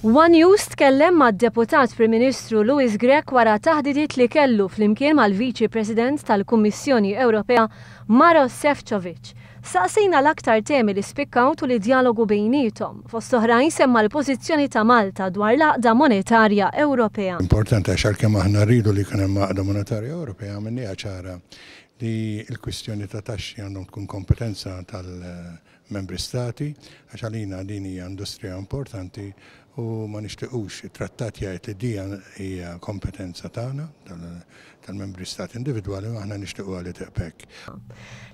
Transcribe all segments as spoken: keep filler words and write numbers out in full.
One News tkellem mad-Deputat Prim Ministru Louis Grech wara taħdidiet li kellu flimkien mal-Viċi President tal-Kummissjoni Ewropea Maros Sefcovic. Saqsejna l-aktar temi li spikkaw tul id-djalogu bejniethom. Fost oħrajn semma l-pożizzjoni ta' Malta dwar l-għaqda monetarja Ewropea. Importanti għax għalkemm aħna rridu li jkun hemm għaqda monetarja Ewropea, għamilniha ċara li l-kwistjoni ta' taxxi għandhom tkun kompetenza tal-membri stati, għax għalina din hija industrija importanti u ma nixtiequx, it-trattat jgħid li din hija kompetenza tagħna tal-membri stati individwali u aħna nixtiequ li tibqa' hekk.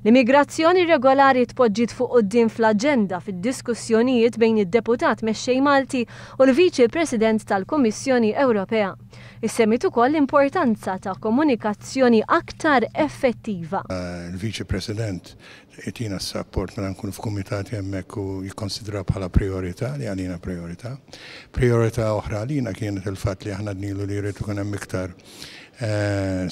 L-immigrazzjoni irregolari tpoġġiet fuq quddiem fl-aġenda fid-diskussjonijiet bejn id-deputat mexxej Malti u l-Viċi President tal-Kummissjoni Ewropea. Issemmiet ukoll l-importanza ta' komunikazzjoni aktar effettiva. Il-Viċi President jtina s-support meta nkunu f'kumitati hemmhekk u jikkonsidra bħala priorità li għalina priorità. Priorità oħra għalina kienet il-fatt li aħna għednilu li jrid ikun hemm iktar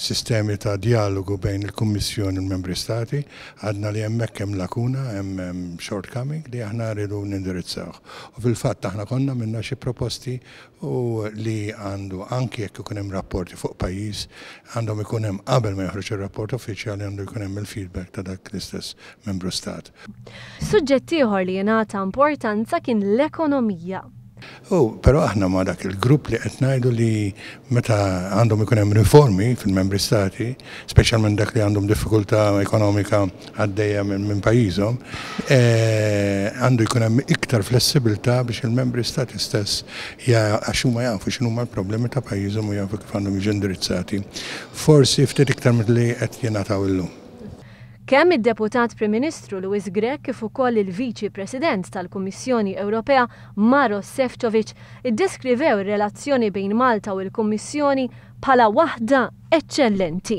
sistemi ta' dialogu bejn il-Kummissjoni u l-Membri Stati. Għedna li hemmhekk hemm lakuna, hemm shortcoming li aħna rridu nindirizzawh. U fil-fatt aħna konna għamilna xi proposti u li għandu anki jekk ikun hemm rapporti fuq pajjiż, għandhom ikun hemm qabel ma joħroġ ir-rapport uffiċjali għandu jkun hemm il-feedback ta' dak l-istess membru stat. Suġġett ieħor li jingħata importanza kien l-ekonomija. U, però aħna ma dak il-grupp li qed ngħidu li meta għandhom ikun hemm riformi fil-membri stati, speċjalment dak li għandhom diffikultà ekonomika għaddejja minn pajjiżhom, għandu jkun hemm iktar flessibilità biex il-membri stati stess għax huma jafu x'inhuma l-problemi ta' pajjiżhom u jafu kif għandhom jiġu indirizzati. Forsi ftit iktar milli qed jingħataw illum. Kemm id-Deputat Prim Ministru Louis Grech kif ukoll il-Viċi President tal-Kummissjoni Ewropea Maros Sefcovic iddeskrivew ir-relazzjoni bejn Malta u l-Kummissjoni bħala waħda eċċellenti.